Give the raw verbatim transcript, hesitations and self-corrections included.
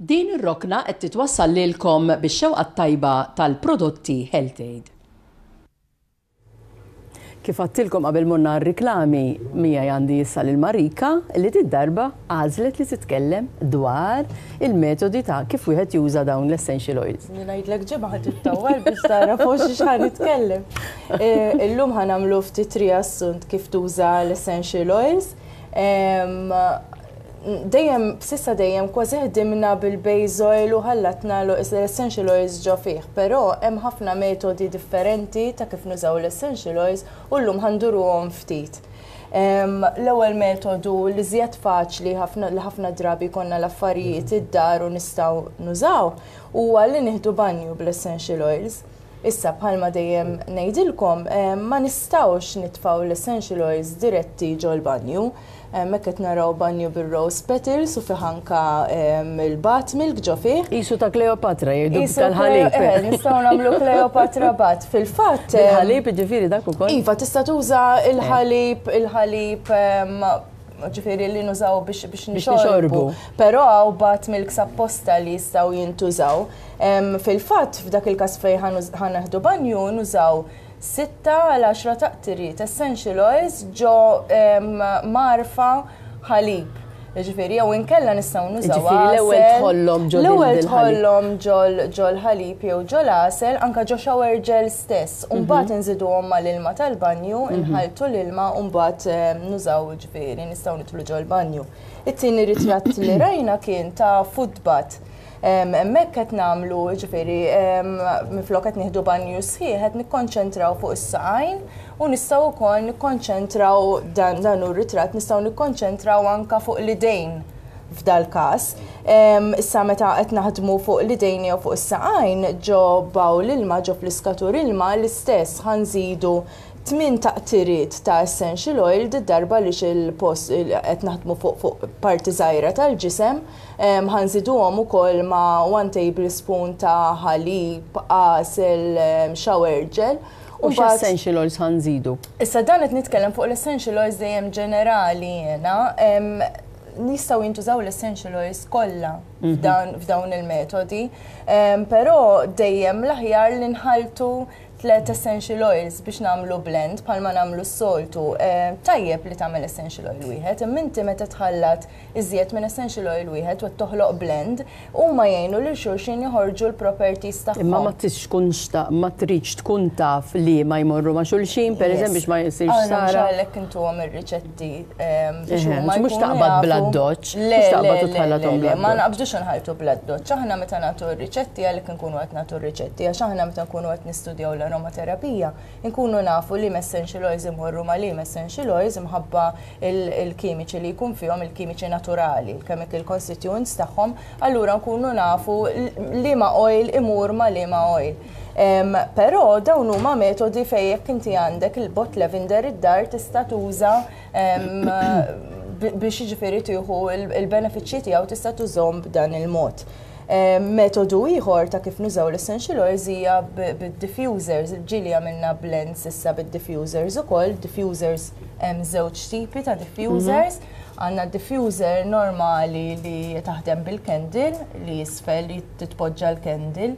Din ir-rokna qed titwassal lilkom bix-xewqa tajba tal-prodotti Health Aid. Kif għedtilkom qabel morna r-riklami, miegħi għandi issa lil Marika li did-darba għażlet li titkellem dwar il-metodi ta' kif wieħed juża dawn l-essential oils. Ngħidlek ġimgħa ħa tittawwal biex tara fuq xiex ħa nitkellem. Eh, illum ħa nagħmlu ftit riassunt kif tuża l-essential oils. Dejjem, s'issa dejjem kważi ħdimna bil-base oil u ħallatna l-essential oils ġo fih, però hemm ħafna metodi differenti ta' kif nużaw l-essential oils u llum ħa nduruhom ftit. L-ewwel metodu li żjed faċli ħafna li ħafna drabi konna l-affarijiet id-dar u nistgħu nużaw huwa li nieħdu banju bl-essential oils. Issa, bħalma dejjem ngħidilkom, ma nistgħux nitfgħu l-essential oils diretti ġol-banju. Hekk qed naraw banju bil-rose petals u fih anka il-bath milk ġo fih. Qisu ta' Kleopatra jgħidu tal-ħalib. Eh, nistgħu nagħmlu Kleopatra bath. Fil-fatt. Il-ħalib, ġifieri, dak ukoll. Iva, tista' tuża il-ħalib, il-ħalib ġifieri li nużaw biex biex nixorbu. Però hawn bath milk apposta li jistgħu jintużaw. Fil-fatt, f'dak il-każ fejn ħa nieħdu banju, nużaw sitta għal għaxra taqtiriet essential oils ġo mgħarfa ħalib. Ġifieri, jew inkella nistgħu nużaw. Ġifieri l-ewwel tħollhom ġol L-ewwel tħollhom ġol ħalib jew ġol għasel, anka ġo shower gel stess. U mbagħad mhm. inżiduhom mal-ilma tal-banju, mhm. inħaltu l-ilma u mbagħad nużaw, ġifieri nistgħu nidħlu ġol-banju. It-tieni ritratt li rajna kien ta' foot bath. Hemmhekk qed nagħmlu, ġifieri, minflok qed nieħdu banju sħiħ, qed nikkonċentraw fuq is-saqajn u nistgħu wkoll nikkonċentraw, dan dan hu ritratt, nistgħu nikkonċentraw anka fuq l-idejn f'dal każ. Issa, meta qed naħdmu fuq l-idejn jew fuq is-saqajn ġo bowl ilma, ġo fliskatur ilma l-istess, ħa nżidu tmien taqtiriet ta' essential oil, darba li il-post qed naħdmu fuq fuq parti żgħira tal-ġisem, ħa nżiduhom ukoll ma' one tablespoon ta' ħalib, għasel, shower gel. U essential oils ħa nżidu? Issa, dan qed nitkellem fuq l-essential oils dejjem ġenerali jena. Nistgħu jintużaw l-essential oils kollha mhm. f'dawn il-metodi, però dejjem l-aħjar li nħaltu tlet essential oils biex nagħmlu blend bħalma nagħmlu s-soltu. Tajjeb li tagħmel essential oil wieħed, imma inti meta tħallat iżjed minn essential oil wieħed u toħloq blend, huma jgħinu lil xulxin joħorġu l-properties tagħhom. Imma ma tkunx ma tridx tkun taf li ma jmorru ma' xulxin, per eżempju, biex ma jsirx sara. Għalhekk intuhom ir-riċetti biex huma mhux taqbad bl-addoċċ. Le, le, ma naqbdux nħaltu bl-addoċċ. Aħna meta nagħtu r-riċetti, għalhekk nkunu qed nagħtu r-riċetti, għax aħna meta nkunu qed nistudjaw l-aromaterapija, nkunu nafu li essential oils imorru ma li essential oils imħabba il-kimiċi li jkun fihom, il-kimiċi naturali, il-chemical constituents tagħhom, allura nkunu nafu liema oil imur ma liema oil. Però dawn huma metodi fejn jekk inti għandek il-bott lavender id-dar tista' tuża biex, jiġifieri, tieħu il-benefiċċji tiegħu, tista' tużhom b'dan il-mod. Metodu ieħor ta' kif nużaw l-essential oils hija bid-diffusers. Ġieli għamilna blends issa bid-diffusers ukoll. Diffusers, hemm żewġ tipi ta' diffusers. Għandna diffuser normali li taħdem bil-candle, li jisfel li titpoġġa l-candle.